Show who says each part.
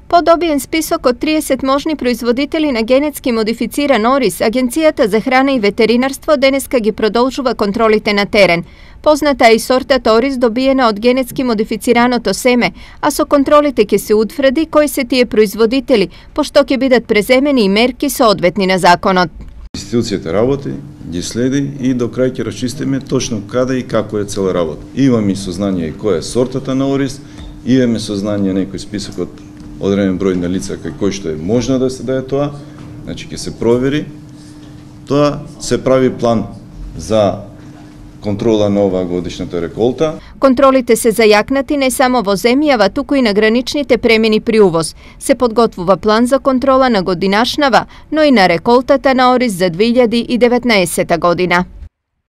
Speaker 1: По добиен список од 30 можни производители на генетски модифициран ориз, Агенцијата за храна и ветеринарство денеска ги продолжува контролите на терен. Позната е и сортата ориз добиена од генетски модифицираното семе, а со контролите ќе се утврди кои се тие производители, пошто ќе бидат преземени и мерки соодветни на законот.
Speaker 2: Институцијата работи, ги следи и до крај ќе расчистиме точно каде и како е цела работа. Имаме сознание која е сортата на ориз, имаме сознание некој список од одреден број на лица кој што е можно да се даде тоа, значи ќе се провери. Тоа се прави план за контрола на оваа годишната реколта.
Speaker 1: Контролите се зајакнати не само во земјава, туку и на граничните премини при увоз. Се подготвува план за контрола на годинашнава, но и на реколтата на ориз за 2019 година.